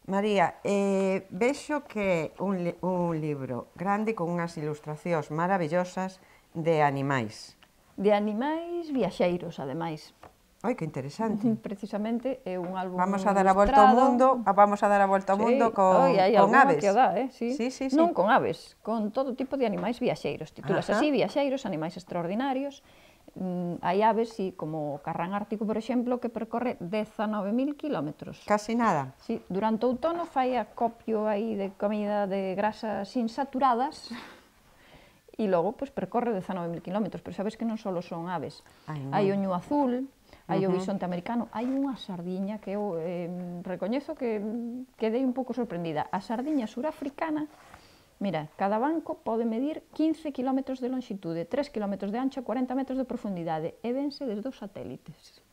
María, vexo que é un libro grande con unhas ilustracións maravillosas de animais. De animais viaxeiros, ademais. Ai, que interesante. Precisamente é un álbum Vamos a dar a volta ao mundo, con aves. Que o dá, sí. Sí. Non con aves, con todo tipo de animais viaxeiros. Titulas así, viaxeiros, animais extraordinarios. Hai aves, como o carrán ártico, por exemplo, que percorre 19.000 kilómetros. Casi nada. Sí, durante o outono fai acopio aí de comida de grasas insaturadas e logo percorre 19.000 kilómetros, pero sabes que non só son aves. Hai o ñu azul, hai o bisonte americano, hai unha sardiña que eu recoñezo que quedei un pouco sorprendida. A sardiña surafricana, mira, cada banco pode medir 15 km de longitude, 3 km de ancho, 40 metros de profundidade e vense desde os satélites.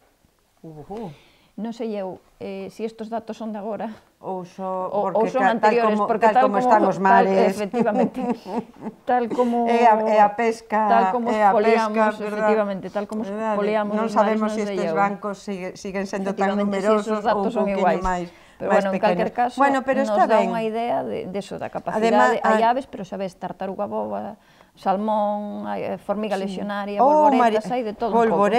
Non sei eu se estes datos son de agora ou son anteriores, porque tal como están os mares. Efectivamente, tal como a pesca, tal como poliamos, efectivamente, tal como poliamos. Non sabemos se estes bancos siguen sendo tan numerosos ou un pouquinho máis. Pero bueno, en calquer caso, nos dá unha idea de eso, da capacidade. Hai aves, pero sabes, tartaruga boba, salmón, formiga lexionaria, bolboretas, hai de todo un pouco.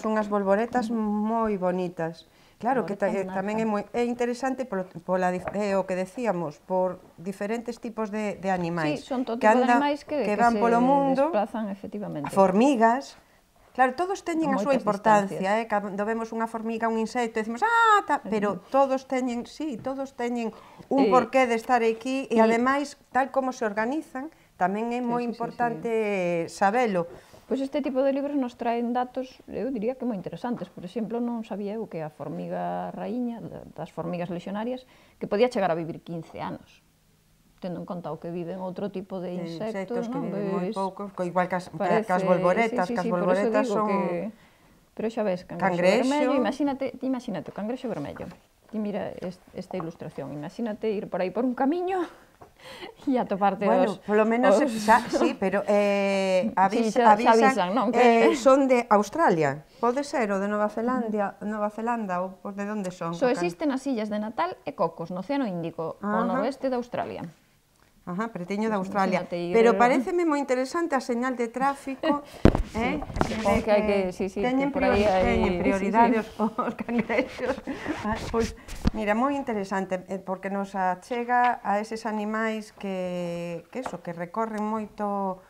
Unhas bolboretas moi bonitas. Claro, que tamén é interesante o que decíamos, por diferentes tipos de animais. Sí, son todo tipo de animais que van polo mundo, desplazan, efectivamente. Formigas. Claro, todos teñen a súa importancia, cando vemos unha formiga, un insecto, decimos, pero todos teñen un porqué de estar aquí e, ademais, tal como se organizan, tamén é moi importante sabelo. Pois este tipo de libros nos traen datos, eu diría que moi interesantes. Por exemplo, non sabía eu que a formiga raíña, das formigas lexionarias, que podía chegar a vivir 15 anos. Tendo en conta o que viven outro tipo de insectos, que viven moi pouco, igual que as bolboretas, que as bolboretas son... Pero xa ves, cangrexo vermello, imagínate o cangrexo vermello. E mira esta ilustración, imagínate ir por aí por un camiño e atoparte Bueno, polo menos, sí, pero avisan, son de Australia, pode ser, ou de Nova Zelanda, ou de onde son? Só existen as illas de Natal e Cocos, no Océano Índico, ao noroeste de Australia. Pretiño de Australia. Pero pareceme moi interesante a señal de tráfico. Teñen prioridade os cangrexos. Pois, mira, moi interesante, porque nos achega a eses animais que recorren moito...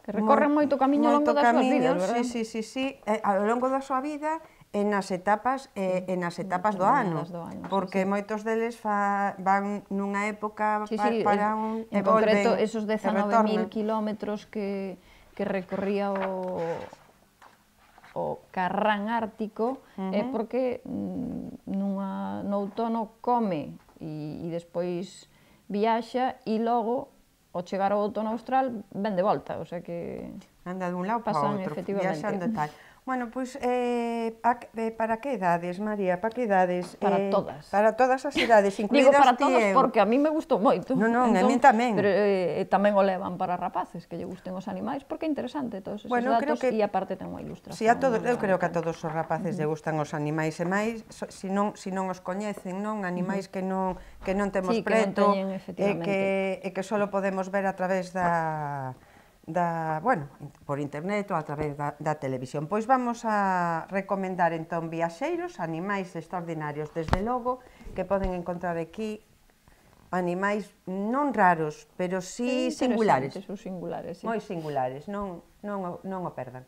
Que recorren moito camiño ao longo das súas vidas, verdad? Sí, ao longo da súa vida, e nas etapas do ano, porque moitos deles van nunha época para un... En concreto, esos 19.000 kilómetros que recorría o carrán ártico é porque no outono come e despois viaxa e logo, ao chegar ao outono austral, ven de volta, o sea que... Anda dun lado para outro, viaxando e tal. Bueno, pois, para que edades, María? Para que edades? Para todas. Para todas as edades, incluídas ti e eu. Digo para todas porque a mí me gustou moito. Non, a mí tamén. Pero tamén o levan para rapaces, que lle gusten os animais, porque é interesante todos esos datos e aparte ten unha ilustración. Eu creo que a todos os rapaces lle gustan os animais e máis, se non os coñecen, non? Animais que non temos preto e que só podemos ver a través por internet ou a través da televisión. Pois vamos a recomendar entón viaxeiros, animais extraordinarios, desde logo, que poden encontrar aquí animais non raros, pero sí singulares. Moi singulares, non o perdan.